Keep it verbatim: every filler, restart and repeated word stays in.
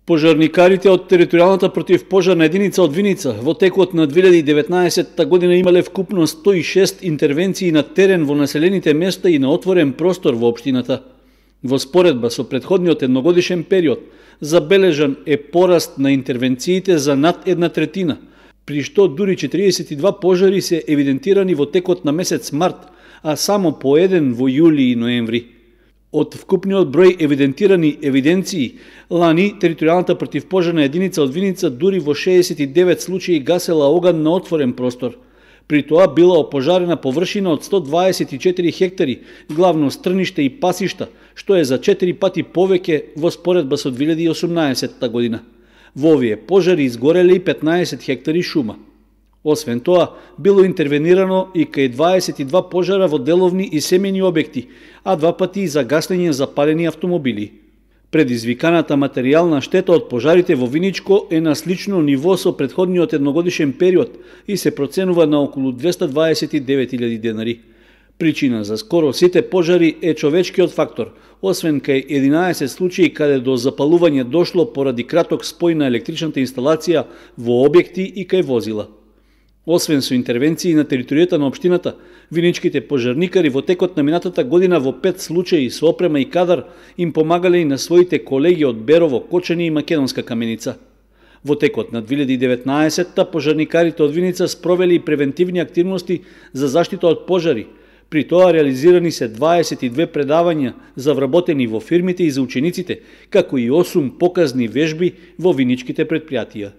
Пожарникарите од територијалната противпожарна единица од Виница во текот на две илјади и деветнаесетта година имале вкупно сто и шест интервенции на терен во населените места и на отворен простор во општината. Во споредба со претходниот едногодишен период, забележан е пораст на интервенциите за над една третина, при што дури четириесет и два пожари се евидентирани во текот на месец март, а само по еден во јули и ноември. Од вкупниот број евидентирани евиденции, лани територијалната противпожарна единица од Виница дури во шеесет и девет случаи гасела оган на отворен простор. При тоа била опожарена површина од сто дваесет и четири хектари, главно стрниште и пасишта, што е за четири пати повеќе во споредба со две илјади и осумнаесетта година. Во овие пожари изгореле и петнаесет хектари шума. Освен тоа, било интервенирано и кај дваесет и два пожара во деловни и семејни објекти, а два пати и за гаснење запалени автомобили. Предизвиканата материјална штета од пожарите во Виничко е на слично ниво со претходниот едногодишен период и се проценува на околу двесте дваесет и девет илјади денари. Причина за скоро сите пожари е човечкиот фактор, освен кај единаесет случаи каде до запалување дошло поради краток спој на електричната инсталација во објекти и кај возила. Освен со интервенции на територијата на општината, виничките пожарникари во текот на минатата година во пет случаи со опрема и кадар им помагале и на своите колеги од Берово, Кочани и Македонска Каменица. Во текот на две илјади и деветнаесетта пожарникарите од Виница спровели и превентивни активности за заштита од пожари. При тоа реализирани се дваесет и две предавања за вработени во фирмите и за учениците, како и осум показни вежби во виничките претпријатија.